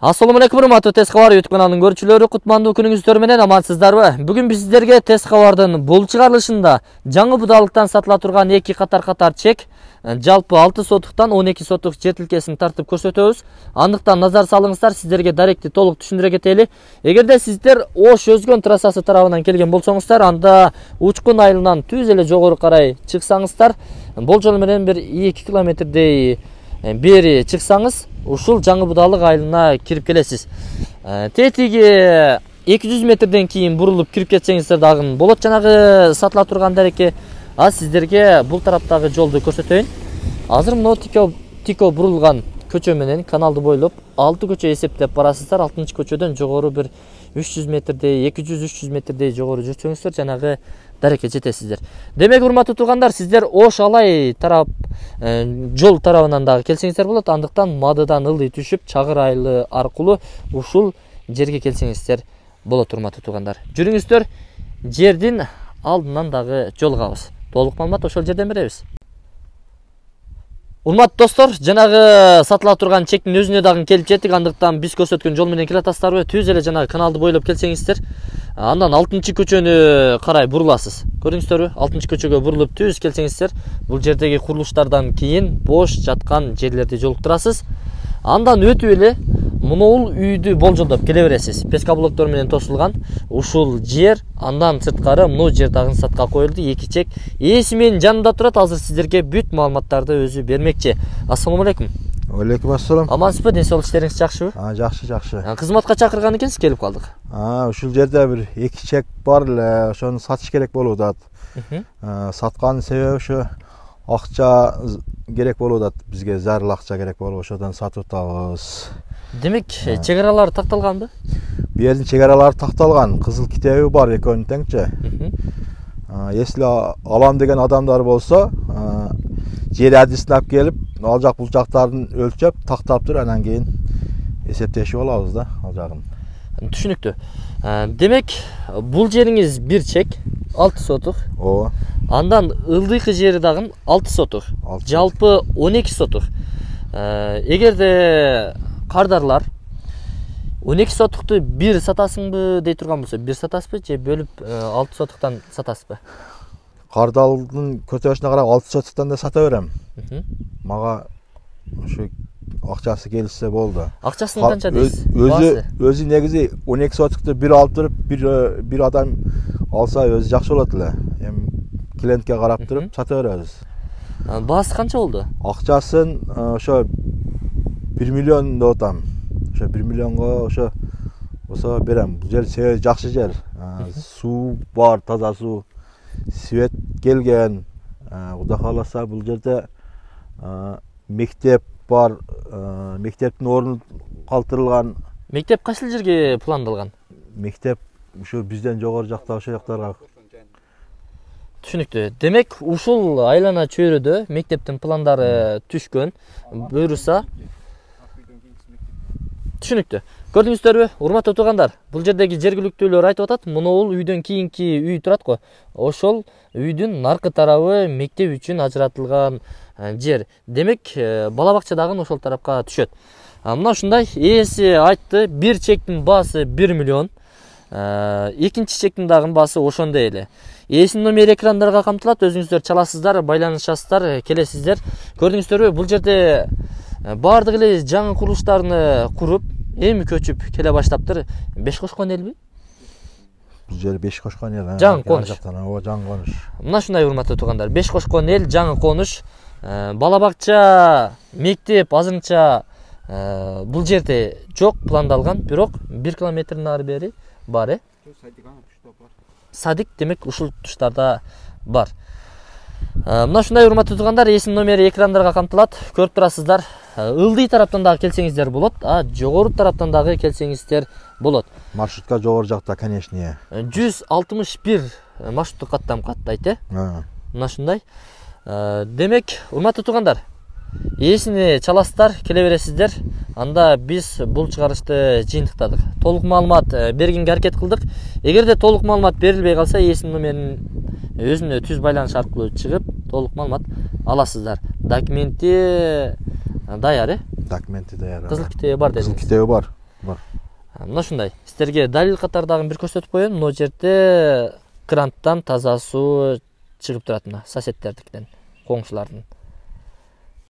Assalamu alaikum, урматтуу Тез кабар YouTube каналынын көрүүчүлөрү, кутмандуу күнүңүздөр менен амансыздарбы? Бүгүн биз сиздерге Тез кабардын бул чыгарылышында жаңы будалыктан сатыла турган эки катар чек, жалпы 6 сотуктан 12 сотук жер тилкесин тартып көрсөтөбүз. Андыктан назар салыңыздар, сиздерге даректи толук түшүндүрө кетели. Эгерде сиздер Ош Өзгөн трассасы тарабынан келген болсоңуздар, анда Учкун айылынан түз эле жогору карай чыксаңыздар, болжол менен бир 2 километрдей бери чыксаңыз, ушул жаңы будалык айылына кирип келесиз. Тетиги 200 метрден кийин бурулуп кирип кетсеңиздер дагы болот. Жанагы сатыла турган дарекке сиздерге бул тараптагы жолду көрсөтөйүн. Азыр мына тико бурулган көчө менен каналды бойлоп 6 көчө эсептеп барасыздар. 6-көчөдөн жогору бир 300 метрдей, 200-300 метрдей жогору жүрсөңүздөр жанагы дарекке жетесиздер. Демек, урматтуу туугандар, сиздер Ош Алай тарап жол тарабынан дагы келсеңиздер болот. Андыктан Мадыдан ылдый түшүп, Чагыр айылы аркылуу ушул жерге келсеңиздер болот, урматтуу туугандар. Жүрүңүздөр, жердин алдынан дагы жолугабыз. Толук маалымат ошол жерден беребиз. Урматтуу достор, жанагы сатыла турган чектин өзүнө дагы келип жеттик. Андыктан биз көрсөткөн жол менен келатасыздарбы? Түз эле жанагы каналды бойлоп келсеңиздер, андан 6-көчөнү карай буруласыз. Көрдүңүздөрбү? 6-көчөгө бурулуп түз келсеңиздер, бул жердеги курулуштардан кийин бош жаткан жерлерди жолуктурасыз. Андан өтүп эле мунул үйдү болжолдоп келе бересиз. Песка блоктор менен тосулган ушул жер, андан сырткары мына жер дагы сатка коюлду. Эки чек ээси менин жанында турат. Азыр сиздерге бүт маалыматтарды өзү бермекчи. Ассаламу алейкум. Алейкум ассалам. Амансызбы? Ден соолук иштериңиз жакшыбы? Жакшы. Кызматка чакырган экенсиз, келип калдык. Ушул жерде бир эки чек бар эле, ошону сатыш керек болуп атат. Саткан себеби ошо акча керек болуп атат. Бизге зарыл акча керек болуп, ошодон сатып атабыз. Демек, чек аралары такталганбы? Бу жердин чек аралары такталган, кызыл китеби бар экөөнүн теңчи. Если алам деген адамдар болсо, жер адисин алып келип, ал жак бул жактарын өлчөп, тактап туруп, анан кийин эсептешип алабыз да, ал жагын. Түшүнүктүү. Демек, бул жериңиз бир чек, 6 сотук. Ооба. Андан ылдыйкы жери дагы 6 сотук. Жалпы 12 сотук. Эгерде кардарлар 12 сотукту бир сатасыңбы дей турган болсо, бир сатасызбы же бөлүп 6 сотуктан сатасызбы? Кардалдын көтөрүшүнө карап 6 сотуктан да сата берем. Мага ушу акчасы келсе болду. Акчасын канча дейсиз? Өзү негизи 12 сотукту бир алып туруп, бир адам алса өзү жакшы болот эле. Эми клиентке карап туруп сата беребиз. Баасы канча болду? Акчасын ошо 1 миллион деп атам. Ошо 1 миллионго ошо болсо берем. Бул жер себеби жакшы жер. Суу бар, таза суу. Свет келген. Кудай кааласа бул жерде мектеп бар. Мектептин орну калтырылган. Мектеп кайсыл жерге пландалган? Мектеп ушу бизден жогору жакта, ошол жактарга. Түшүнүктүү. Демек, ушул айлана чөйрөдө мектептин пландары түшкөн. Буйруса түшүнүктүү. Көрдүңүздөрбү, урматтуу туугандар? Бул жердеги жергиликтүүлөр айтып атат, мунул үйдөн кийинки үй турат го. Ошол үйдүн наркы тарабы мектеп үчүн ажыратылган жер. Демек, бала бакча дагы ошол тарапка түшөт. Мына ушундай ээси айтты, бир чектин баасы 1 миллион. Экинчи чектин дагы баасы ошондой эле. Ээсинин номери экрандарга камтылат, өзүңүздөр чаласыздар, байланышасыздар, келесиздер. Көрдүңүздөрбү, бул жерде баардык эле жаңы курулуштарны куруп, эми көчүп келе баштаптыр. 5 кошкон элби? Бул жер 5 кошкон эл. Жаңы конуш. Ооба, жаңы конуш. Мына ушундай, урматтуу туугандар. 5 кошкон эл, жаңы конуш. Бала бакча, мектеп азырынча бул жерде жок, пландалган, бирок 1 километрден ары бери бар, Садик, демек, ушул туштарда бар. Мына ушундай, урматтуу туугандар, ээсинин номери экрандарга камтылат, көрүп турасыздар. Ылдый тараптан дагы келсеңиздер болот, жогору тараптан дагы келсеңиздер болот. Маршрутка жогору жакта, конечно. 161 маршруттук каттайт, Мына ушундай. Демек, урматтуу туугандар, ээсини чаласыздар, келе бересиздер. Анда биз бул чыгарышты жыйынтыктадык. Толук маалымат бергенге аракет кылдык. Эгерде толук маалымат берилбей калса, ээсинин номерин өзүнө түз байланыш аркылуу чыгып, толук маалымат аласыздар. Документи даяр, Документи даяр. Кызыл китеби бар дедиңиз. Кызыл китеби бар. бар. Мына ушундай. Сиздерге далил катары дагы бир көрсөтүп коеюн. Мына жерде кранттан таза суу чыгып турат мына соседтердикинен, коңшулардын.